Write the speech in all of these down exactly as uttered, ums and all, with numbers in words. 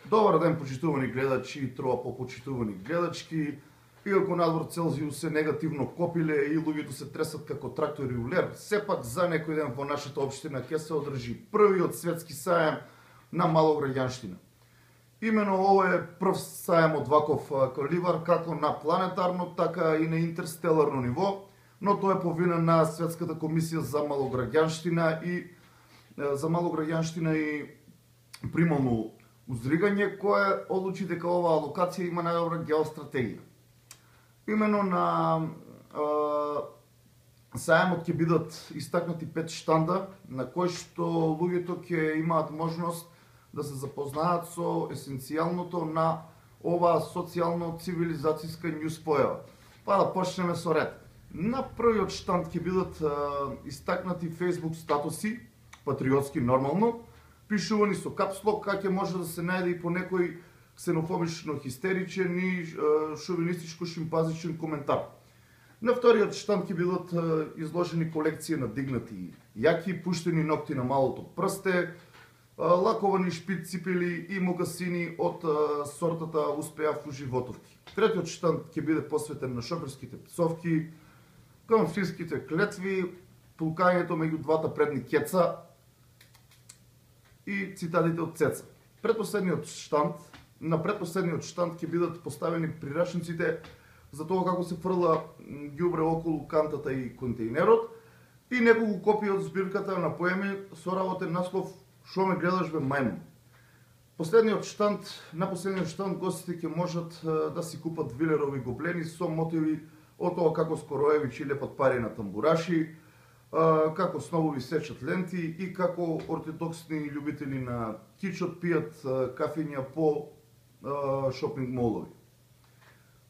Добар ден, почитувани гледачи и троа попочитувани гледачки. Иако надвор Целзиус е негативно копиле и луѓето се тресат како трактори у лер, сепак за некој ден во нашата општина ќе се одржи првиот светски сајам на малограѓанштина. Имено ово е прв сајам од ваков каливар како на планетарно, така и на интерстеларно ниво, но тоа е по вина на Светската комисија за малограѓанштина и за малограѓанштина и примално узригање, кое одлучи дека оваа локација има најдобра геостратегија. Имено на е, сајамот ќе бидат истакнати пет штанда, на кои што луѓето ќе имаат можност да се запознаат со есенцијалното на оваа социјално-цивилизацијска њуз појава. Па да почнеме со ред. На првиот штанд ќе бидат е, истакнати Facebook статуси, патриотски нормално, пишувани со капслок, како ќе може да се најде и по некој ксенофобично хистеричен и шовинистичко шимпазичен коментар. На вториот штанд ќе бидат изложени колекција на дигнати јаки, пуштени ногти на малото прсте, лаковани шпиц ципели и мокасини од сортата успеав уживотовки. Третиот штанд ќе биде посветен на шоферските пцовки, конфиските клетви, пулкањето меѓу двата предни кеца и цитатите од Цеца. Предпоследниот штанд, на предпоследниот штанд ќе бидат поставени прирачниците за тоа како се фрла ѓубре околу кантата и контејнерот и неколку копии од збирката на поеми со работен наслов "Шо ме гледаш бе мајмун". Последниот штанд, на последниот штанд гостите ќе можат да си купат вилерови гоблени со мотиви од тоа како Скороевич лепат пари на тамбураши, како сновови сечат ленти и како ортодоксни љубители на кичот пијат кафења по шопинг молови.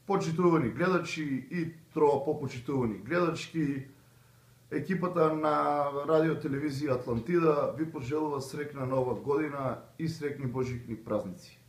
Почитувани гледачи и троа попочитувани гледачки, екипата на радио телевизија Атлантида ви пожелува среќна нова година и среќни божикни празници.